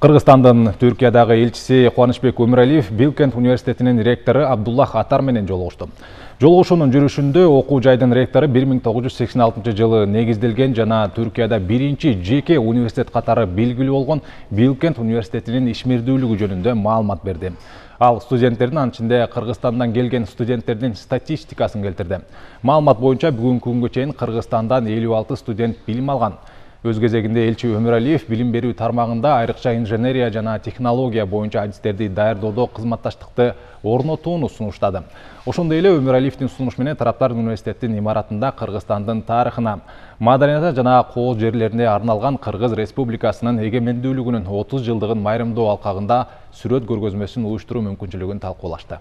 Кыргызстандын Түркиядагы элчиси Кубанычбек Өмүралиев Билкент университетинин ректору Абдуллах Атар менен жолугушту. Жолугушуунун жүрүшүндө окуу жайдын ректору 1986 жылы негизделген жана Түркияда биринчи жеке университет катары белгилүү болгон Билкент университетинин ишмердүүлүгү жөнүндө маалымат берди. Ал студенттердин, анын ичинде Кыргызстандан келген студенттердин статистикасын келтирди. Маалымат боюнча бүгүнкү күнгө чейин Кыргызстандан 56 студент билим алган. Өз кезегинде элчи Өмүралиев билим берүү тармагында айрыкча инженерия жана технология боюнча адистерди даярдоодо кызматташтыкты орнотууну сунуштады. Ошондой эле Өмүралиевдин сунушу менен тараптар университеттин имаратында Кыргызстандын тарыхына, маданиятына жана кол жерлерине арналган Кыргыз Республикасынын эгемендүүлүгүнүн 30 жылдыгын майрамдоо алкагында сүрөт көргөзмөсүн уюштуруу мүмкүнчүлүгүн талкуулашты.